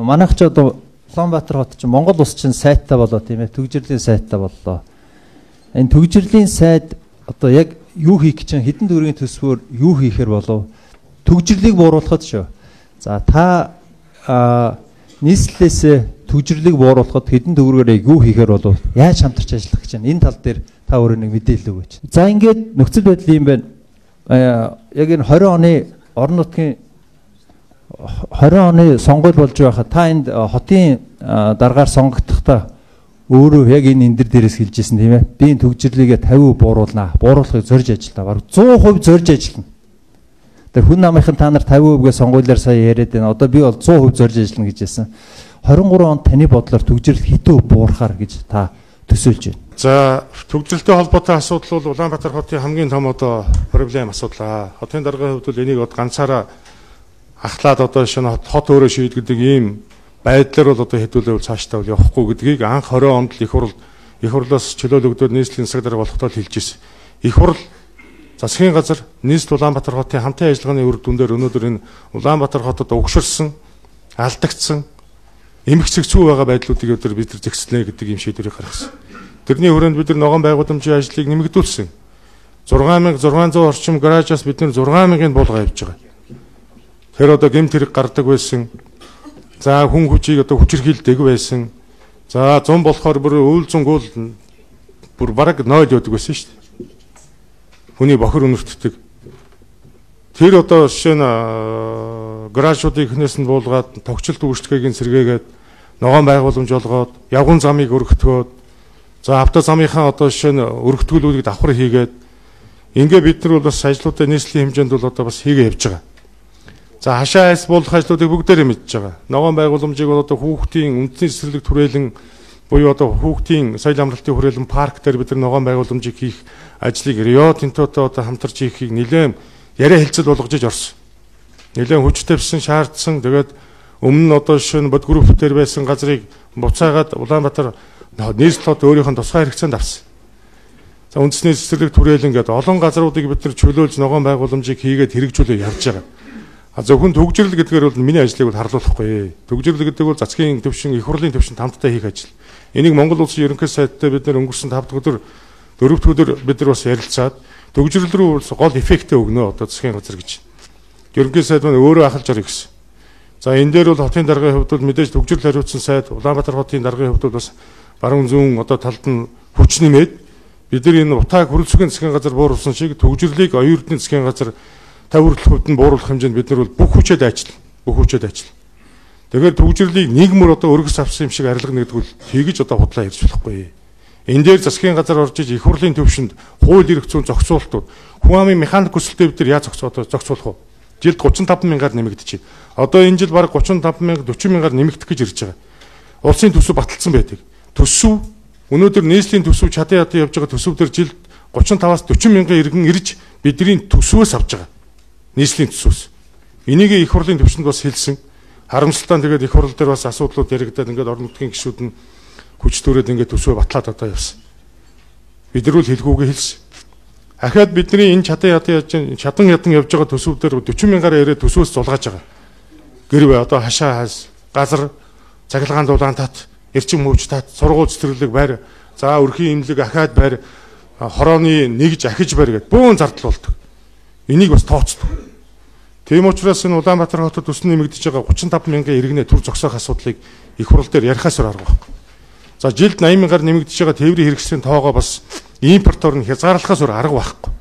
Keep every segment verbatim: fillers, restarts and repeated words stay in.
манайх ч одоо Улаанбаатар хот чинь Монгол улс чинь сайттай болоо тийм ээ, төгжрлийн сайттай боллоо. Энэ төгжрлийн сайд одоо яг юу хийх гэж чинь хэдэн төгрөгийн төсвөөр юу хийхэр болов? Төгжрлийг бууруулахад шүү. За та нийслэлээс төгжрлийг бууруулахад хэдэн төгрөгөөр юу хийхэр болов? Яаж хамтарч ажиллах гэж байна? Энэ тал дээр та өөрөө нэг мэдээлэл өгөөч. За ингээд нөхцөл байдал юм байна. Яг энэ двадцать оны орон нутгийн двадцать оны сонгуул болж байхад та энд хотын дараагаар сонгогдохдоо өөрөө яг энэ эндэр дээрээс хэлжсэн тийм ээ. Би энэ төгжрлийгээ пятьдесят бууруулнаа. Бууруулахыг зорж ажиллаа. Бараг сто процент зорж ажиллана. Тэр хүн намынхан та нар пятьдесят процент-гээ сонгуулиар сая яриад байна. Одоо би бол сто процент зорж ажиллана гэж хэлсэн. двадцать три онд таны бодлоор төгжрөл хэдэн буурахаар гэж та төсөөлж байна? За төгжрөлтэй холбоотой асуудал бол Улаанбаатар хотын хамгийн том одоо проблем асуудал. Хотын даргын хувьд бол энийг одоо ганцаараа ахлаад одоо шинэ хот өөрөө шийдэгдэг ийм байдлаар бол одоо хэдүүлээ цаашдаа явахгүй гэдгийг анх двадцать онд л их хурл их хурлаас чөлөөлөгдөд нийслэлийн засаг дарга болохдоо хэлж ирсэн. Их хурл засгийн газар нийслэл Улаанбаатар хотын хамтын ажиллагааны үр дүндээр өнөөдөр энэ Улаанбаатар хотод угширсан, алдагдсан, эмх цэгцүү байгаа байдлуудыг өдөр бид нар зэгцлэнэ гэдэг ийм шийдвэрийг гаргасан. Тэрний хүрээнд бид нар ногоон байгууламжийн ажлыг нэмэгдүүлсэн. сix thousand six hundred орчим гаражаас бид нар six thousand-ыг буулгаа явж байгаа. Тэр одоо гэмт хэрэг гардаг байсан. За хүн хүчийг одоо хүчирхийлдэг байсан. За зам болохоор бүр үйл зунгуул бүр бараг ноль явдаг байсан шүү дээ. Хүний бохир өнөртдөг. Тэр одоо жишээ нь гаражуудыг ихнээс нь буулгаад тогтчлт үүсгэгийн сэргээгээд ногоон байгууламж олгоод явган замыг өргөтгөөд за авто замынхаа одоо жишээ нь өргөтгүүлүүдийг давхар хийгээд ингээ бид нар бол бас ажлуудаа нийслэлийн хэмжээнд бол одоо бас хийгээ явж байгаа. За хашаа айс буулгах ажлуудыг бүгдээрээ мэдж байгаа. Ногоон байгууламжийг бол одоо хүүхдийн үндэсний цэцэрлэг түрээлэн буюу одоо хүүхдийн соёл амралтын хүрээлэн парк дээр бид нар ногоон байгууламжийг хийх ажлыг Рио Тинтотой одоо хамтарч хийхийг нэлээд яриа хэлцэл болгож иж орсон. Нэлээд хүчтэй бсэн шаардсан. Тэгээд өмнө нь одоо жишээ нь бод групп дээр байсан газрыг буцаагаад Улаанбаатар нийслэлд өөрийнх нь тусгай хэрэгцээнд авсан. За үндэсний цэцэрлэг түрээлэн гэдэг олон газруудыг бид нар чөлөөлж ногоон байгууламжийг хийгээд хэрэгжүүлээ явж байгаа. А зөвхөн төгжрөл гэдгээр бол миний ажлыг бол харлуулахгүй. Төгжрөл гэдэг бол засгийн төвшин, их хурлын төвшин хамтдаа хийх ажил. Энийг Монгол Улсын ерөнхий сайдтай бид нар өнгөрсөн five дахь өдөр, four дахь өдөр бид нар бас ярилцаад төгжрөл рүү гол эффектээ өгнө одоо засгийн газар гэж. Ерөнхий сайд маань өөрөө ахалж орё гэсэн. За энэ дээр бол хотын даргын хувьд бол мэдээж төгжрөл хариуцсан сайд Улаанбаатар хотын даргын хувьд бол бас баруун зүүн одоо талд нь хүч нэмээд бид нар энэ утааг хөрөлцөгийн засгийн газар бууруулсан шиг төгжрлийг оюун эрдэнэ засгийн газар тавь хүртэл хувьд нь бууруулах хэмжээнд бид нар бол бүх хүчээр дайчлаа. Бүх хүчээр дайчлаа. Тэгэхээр төгжрлийг нийгмөр одоо өргөс авсан юм шиг арилгана гэдэг бол тэгж одоо худлаа ярьж болохгүй. Энэ дээр засгийн газар орж иж их хурлын төвшөнд хууль эрх зүйн зохицуултууд хүн амын механик хүсэлтэд бид нар яаж зохицуулах вэ? Жилд thirty-five мянгаар нэмэгдэж байна. Одоо энэ жил бараг thirty-five мянга forty мянгаар нэмэгдэх гэж ирж байгаа. Улсын төсөв баталсан байдаг. Төсөв өнөөдөр нийслэлийн төсөв чадан ядан явж байгаа төсөв дээр жилд thirty-five-аас forty мянган иргэн ирж бидний төсвөөс авч байгаа. Нийслэлийн төсвөөс. Энийг их хурлын төвшөнд бас хэлсэн. Харамсалтай нь тэгээд их хурл дээр бас асуудлууд яригдаад ингээд орон нутгийн гишүүд нь хүч төрөөд ингээд төсвөө батлаад одоо явсан. Бид нар л хэлгүүгээ хэлсэн. Ахаад бидний энэ чадан ядан яаж чадан ядан явж байгаа төсөв дээр forty мянгаар яриад төсвөөс зулгааж байгаа. Гэрвэ одоо хашаа хаас газар цахилгаан дулаан тат эрчим хөвч тат сургууль цэцэрлэг байр за өрхийн имлэг ахаад байр хорооны нэгж ахиж байр гэдэг бөөн зардал болдог. Энийг бас тооцдог. Тийм учраас энэ Улаанбаатар хотод төсний нэмэгдэж байгаа thirty-five мянган иргэнэ төр зогсоох асуудлыг их хурл дээр ярихаас өөр арга байхгүй. За жилд eighty мянгаар нэмэгдэж байгаа тээврийн хэрэгслийн тоогоо бас импортоор нь хязгаарлахаас өөр арга байхгүй.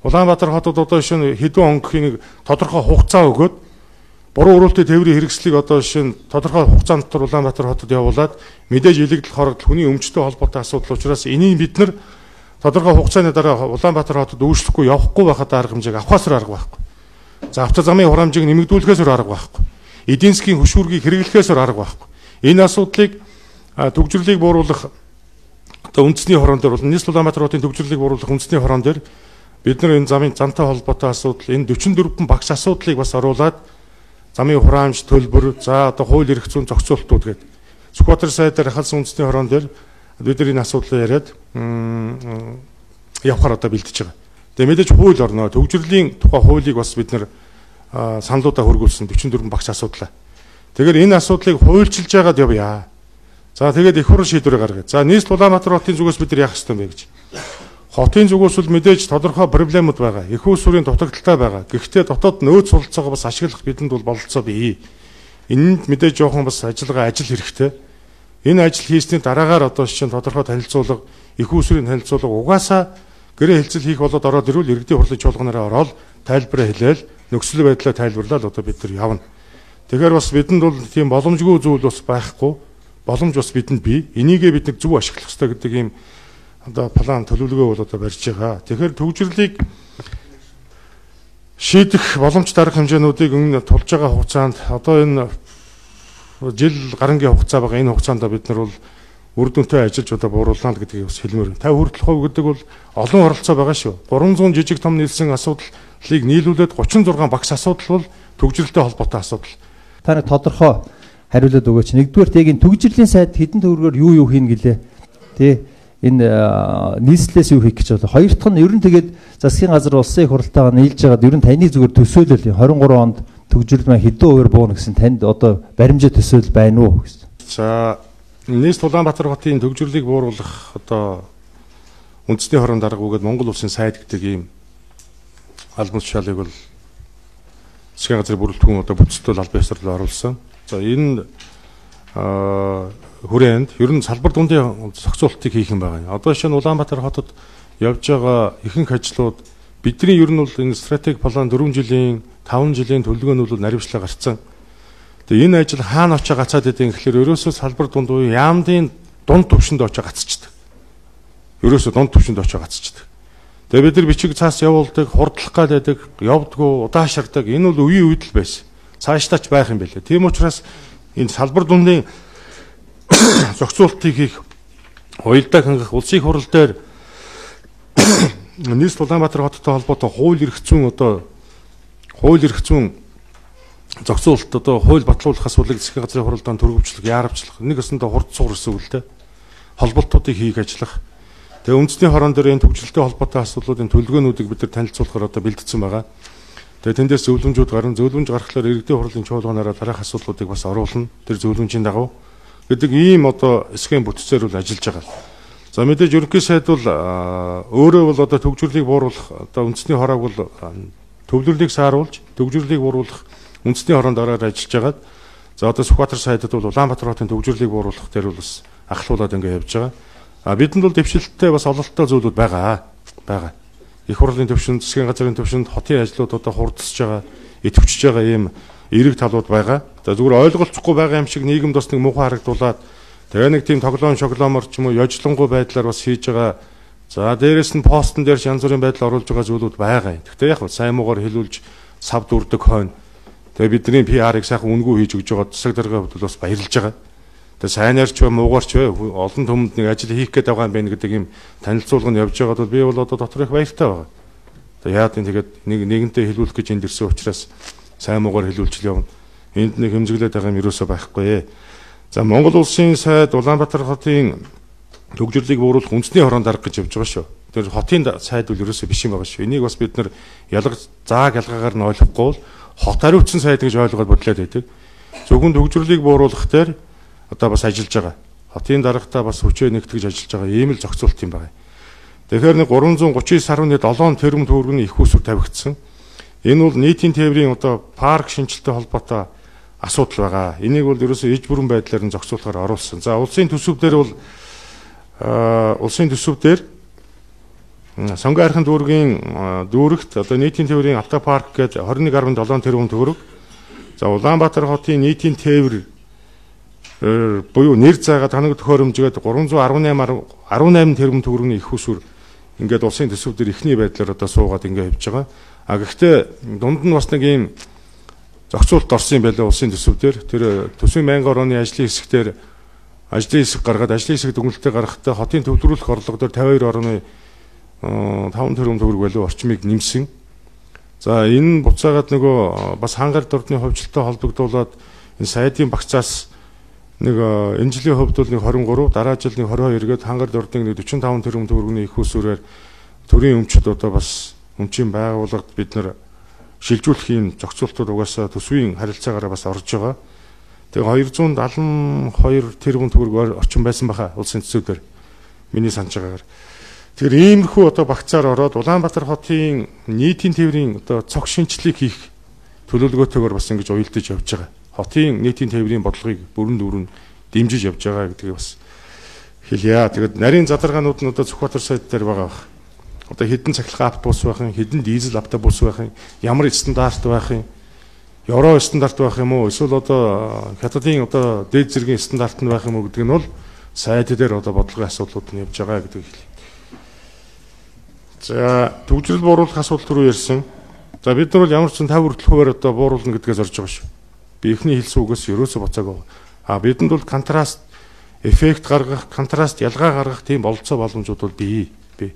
Улаанбаатар хотод одоо шинэ хэдэн он гэх нэг тодорхой хугацаа өгөөд буруу өрөөлтөй тээврийн хэрэгслийг одоо шинэ тодорхой хугацаанд дотор Улаанбаатар хотод явуулаад мэдээж илэгдэл хорогдол хүний өмчтэй холбоотой асуудал учраас энийг бид нар тодорхой хугацааны дараа Улаанбаатар хотод өөрчлөхгүй явахгүй байхад арга хэмжээг авахаас арга байхгүй. За автозамын хурамжийг нэмэгдүүлэхээс арга байхгүй. Эдийн засгийн хөшүүргийг хэрэглэхээс арга байхгүй. Энэ асуудлыг төгжрлийг бууруулах одоо үндэсний хорон дээр бол нийслэл Улаанбаатар хотын төгжрлийг бууруулах үндэсний хорон дээр бид нар энэ замын зантай холбоотой асуудал, энэ forty-four багш асуудлыг бас оруулаад замын хураамж төлбөр, за одоо хууль эрх зүйн зохицуултууд гэдэг. Сүхбаатар сайдаар хахалсан үндэсний хорон дээр бид нар энэ асуудлыг яриад явахаар одоо бэлдэж байгаа. Тэгээ мэдээж хууль орно. Төгжрлийн тухай хуулийг бас бид нар саналуудаа хөргүүлсэн forty-four багш асуудлаа. Тэгэхээр энэ асуудлыг хуульчилж яагаад явъя. За тэгээд их хурл шийдвэрээ гаргая. За нийслэл Улаанбаатар хотын зүгээс бид нар яах ёстой бэ гэж. Хотын зүгээс бол мэдээж тодорхой проблемууд байгаа. Их усүрийн дутагдaltaй байгаа. Гэхдээ дотоод нөөц суралцаага бас ашиглах бидэнд бол бололцоо бий. Энэнд мэдээж жоохон бас ажиллагаа ажил хэрэгтэй. Энэ ажил хийсний дараагаар одоо шинэ тодорхой танилцуулга, их усүрийн танилцуулга угаасаа гэрээ хэлцэл хийх болоод ороод ирвэл иргэдийн хурлын чуулганаараа ороод тайлбараа хэлээл нөхцөл байдлаа тайлбарлаад одоо бид нар явна. Тэгэхээр бас бидэнд бол тийм боломжгүй зүйл бас байхгүй. Боломж бас бидэнд бий. Энийгээ бид нэг зөв ашиглах хэрэгтэй гэдэг ийм одоо план төлөвлөгөө бол одоо барьж байгаа. Тэгэхээр төгжрлийг шийдэх боломж дарах хэмжээнүүдийг өмнө тулж байгаа хугацаанд одоо энэ жил гарангийн хугацаа байгаа. Энэ хугацаанд бид нар бол үр дүнтэй ажиллаж одоо бууруулна гэдгийг бас хэлмээр. пятьдесят хүртэл хувь гэдэг бол олон оролцоо байгаа шүү. гурван зуун жижиг том нийлсэн асуудлыг нийлүүлээд гучин зургаан багц асуудал бол төгжрөлтэй холбоотой асуудал. Та нэг тодорхой хариулаад өгөөч. Нэгдүгээр яг энэ төгжрлийн сайд хэдэн төгрөгөөр юу юу хийнэ гэлээ. Тэ энэ нийслэлээс юу хийх гэж байна. Хоёр дахь нь ер нь тэгээд засгийн газар улсын их хурлтайгаа нийлж байгаад ер нь таны зүгээр төсөөлөл двадцать три онд төгжрөл маань хэдэн хувиар буuna гэсэн танд одоо баримжаа төсөөлөл байна уу гэсэн. За нийслэл Улаанбаатар хотын төгжрлийг бууруулах одоо үндэсний хорон дарга үгээд Монгол улсын сайд гэдэг ийм албан тушаалыг бол засгийн газрын бүрэлдэхүүн одоо бүтцтэй албан ёсоор оруулсан. За энэ хүрээнд ер нь салбар дундын зохицуултыг хийх юм байна. Одоо шинэ Улаанбаатар хотод явж байгаа ихэнх ажлууд бидний ер нь бол энэ стратеги план дөрвөн жилийн, таван жилийн төлөвлөгөө нь бол наривчлаа гарцсан. Тэгээ энэ ажил хаана очиж гацаад байдгийг гэхэлэр ерөөсөө салбар дунд уу яамдын дунд төвшөнд очиж гацчихдаг. Ерөөсөө дунд төвшөнд очиж гацчихдаг. Тэгээ бид нар бичиг цаас явуулдаг, хурдлах гэдэг, явдггүй, удаашрдаг. Энэ бол үеийн үед л байсан. Цаашдаач байх юм билээ. Тийм учраас энэ салбар дундын зохицуултыг хийх, уялдаа хангах улсын хурал дээр нийслэл Улаанбаатар хоттой холбоотой хууль эрх зүйн одоо хууль эрх зүйн зохицуулалт одоо хууль батлуулах асуудлыг засгийн газрын хуралдаанд төрөвчлөх, яарвчлах, нэг өсөндөө хурд сугар эсвэл холболтуудыг хийх ажиллах. Тэгээ үндэсний хорон дээр энэ төгжрөлтэй холбоотой асуудлуудын төлөвлөгөөнүүдийг бид нар танилцуулахаар одоо бэлдсэн байгаа. Тэгээ тэндээс зөвлөмжүүд гарна. Зөвлөмж гаргахлаар иргэдийн хурлын чуулганаараа дараах асуудлуудыг бас оруулна. Тэр зөвлөмжийн дагуу гэдэг ийм одоо схем бүтцээр бол ажиллаж байгаа. За мэдээж ерөнхий сайд бол өөрөө бол одоо төгжрлийг бууруулах одоо үндэсний хороог бол төвлөрлийг сааруулж төгжрлийг бууруулах үндэсний хороонд ороод ажиллаж байгаа. За одоо Сүхбаатар сайдад бол Улаанбаатар хотын төгжрлийг бууруулах дээр бол бас ахлуулаад ингэ явж байгаа. А бидэнд бол дэвшилттэй бас ололттой зүйлүүд байгаа. байгаа. Их хурлын төвшөнд, засгийн газрын төвшөнд хотын ажлууд одоо хурдсаж байгаа, идэвхжиж байгаа ийм эерэг талууд байгаа. За зүгээр ойлголцохгүй байгаа юм шиг нийгэмд бас нэг муухай харагдуулаад тэгээ нэг тийм тоглоом шоглоомор ч юм уу ёжлонгуй байдлаар бас хийж байгаа. За дээрэс нь постн дээр янз бүрийн байдал оруулж байгаа зүйлүүд байгаа. Гэхдээ яг сайн муугаар хэлүүлж савд үрдэг хойно. Тэгээ бидний пи ар-ыг сайхан үнгүй хийж өгж байгаа засаг даргын хувьд бас баярлж байгаа. Тэгээ сайнаар ч бай, муугаар ч бай олон түмэнд нэг ажил хийх гээд байгаа юм байна гэдэг ийм танилцуулга нь явж байгаад бол би бол одоо дотор их баяртай байгаа. Тэгээ яад энэ тэгээд нэг нэгэнтээ хэлүүлэх гэж энд ирсэн учраас сайн муугаар хэлүүлж явна. Энд нэг хэмжиглээд байгаа юм ерөөсөө байхгүй. За Монгол улсын сайд Улаанбаатар хотын төгжрлийг бууруулах үндэсний хорон дарга гэж явж байгаа шүү. Тэр хотын сайд бол ерөөсөө биш юм байгаа шүү. Энийг бас бид нар ялгаж зааг ялгаагаар нь ойлгохгүй бол хот хариуцсан сайд гэж ойлгоод бодлоод байдаг. Зөвхөн төгжрлийг бууруулах дээр одоо бас ажиллаж байгаа. Хотын даргатаа бас хүчээ нэгтгэж ажиллаж байгаа ийм л зохицуулт юм байна. Тэгэхээр нэг гурван зуун гучин девять тэрбум төгрөгийн их усүр тавигдсан. Энэ бол нийтийн тээврийн одоо парк шинжилттэй холбоотой асуудал байгаа. Энийг бол ерөөсөө иж бүрэн байдлаар нь зохицуулахаар оруулсан. За улсын төсөв дээр бол улсын төсөв дээр Сонгон хайрхан дүүргийн дүүрэгт одоо нийтийн тээврийн автопарк гээд двадцать one point seven тэрбум төгрөг. За Улаанбаатар хотын нийтийн тээвэр буюу нэр заагаад ханаг төхөөрөмжгээд тhree eighteen тэрбум төгрөгийн их усүр ингээд улсын төсөв дээр ихний байдлаар одоо суугаад ингээд явж байгаа. А гэхдээ дунд нь бас нэг ийм зохицуулт орсон юм байлаа улсын төсөв дээр. Тэр төсвийн байнгын орооны ажлын хэсгээр ажлын хэсэг гаргаад ажлын хэсэг дүгнэлтээ гаргахдаа хотын төвлөрүүлэх орлого дээр fifty-two point five тэрбум төгрөг байлуу орчмыг нэмсэн. За энэ буцаагаад нөгөө бас хангар дурдны хувьчлалтай холбогдуулаад энэ сайдын багцаас нэг энэ жилийн хувьд бол нэг twenty-three дараа жил нэг twenty-two гээд хангар дурдны нэг forty-five тэрбум төгрөгийн их усүрээр төрийн өмчөд одоо бас өмчийн байгууллагад бид нар шилжүүлэх юм зохицуултууд угаасаа төсвийн харилцаагаараа бас орж байгаа. Тэгээ хоёрзуун даалан хоёр тэрбум төгрөг орчим байсан баха улсын төсвөөр миний санаж байгаагаар. Тэгэхээр иймэрхүү одоо багцаар ороод Улаанбаатар хотын нийтийн тээврийн одоо цог шинжилгээг хийх төлөвлөгөөтэйгээр бас ингэж уялдаж явж байгаа. Хотын нийтийн тээврийн бодлогыг бүрэн дүүрэн дэмжиж явж байгаа гэдгийг бас хэлье. Тэгээд нарийн задаргаанууд нь одоо Сүхбаатар сайд дээр байгаа бах. Одоо хэдэн цахилгаан автобус байх юм, хэдэн дизель автобус байх юм, ямар стандарт байх юм, евро стандарт байх юм уу, эсвэл одоо хятадын одоо дээд зэргийн стандарт нь байх юм уу гэдэг нь бол сайд дээр одоо бодлогын асуудлууд нь явж байгаа гэдэг хэлье. За төвжирэл бууруулах асуудал түрүү ярьсан. За бид нар бол ямар ч тавь хүртэл хуваар одоо бууруулна гэдгээс орж байгаа шүү. Би эхний хэлсэн үгээс ерөөсө буцаагүй. А бидэнд бол контраст эффект гаргах, контраст ялгаа гаргах тийм болцоо боломжууд бол бий. Би